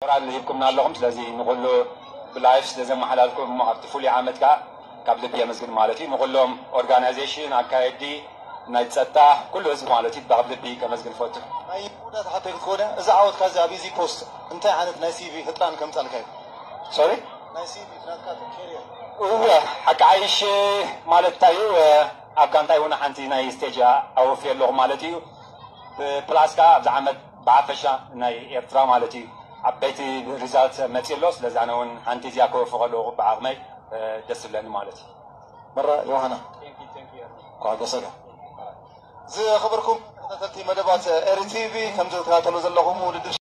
ራል ሂብኩምና ኣለኹም። ስለዚ ንኹሉ ብላይፍ ስለ ዘመሓላልኩም ኣብቲ ፍሉይ ዓመት ከዓ ካብ ልቢ የመስግን ማለት እዩ። ንኹሎም ኦርጋናይዜሽን፣ ኣካየዲ፣ ናይ ጸጥታ፣ ኩሉ ህዝቢ ማለት እዩ ካብ ልቢ ከመስግን እፈቱ። ናይ ውዳት ሓተይ ክትኮነ፣ እዚ ዓወትካ እዚ ኣብ ኢዚ ፖስት እንታይ ዓይነት ናይ ሲቪ ህጥራን ከምጻልካ እዩ? ሶሪ? ናይ ሲቪ ናትካ ኬሪየር። እወ፣ ሓቂ ዓይሽ ማለት እንታይ እዩ? ኣብ ጋንታይ እውን ሓንቲ ናይ ስቴጅ ኣወፍየ ኣለኹ ማለት እዩ። ፕላስ ከዓ ኣብዚ ዓመት ብሓፈሻ ናይ ኤርትራ ማለት እዩ ዓበይቲ ሪዛልት መፅእ ኣሎ። ስለዚ ኣነ እውን ሓንቲ እዚኣ ከወፍቕ ኣለኹ ብዓቕመይ፣ ደስ ዝብለኒ ማለት እዩ። መራ ዮሃና ኳ ጎሰጋ። ዝኸበርኩም ተኸታተልቲ መደባት ኤሪ ቲቪ፣ ከምዚ ትከታተሉ ዘለኹም ውድድር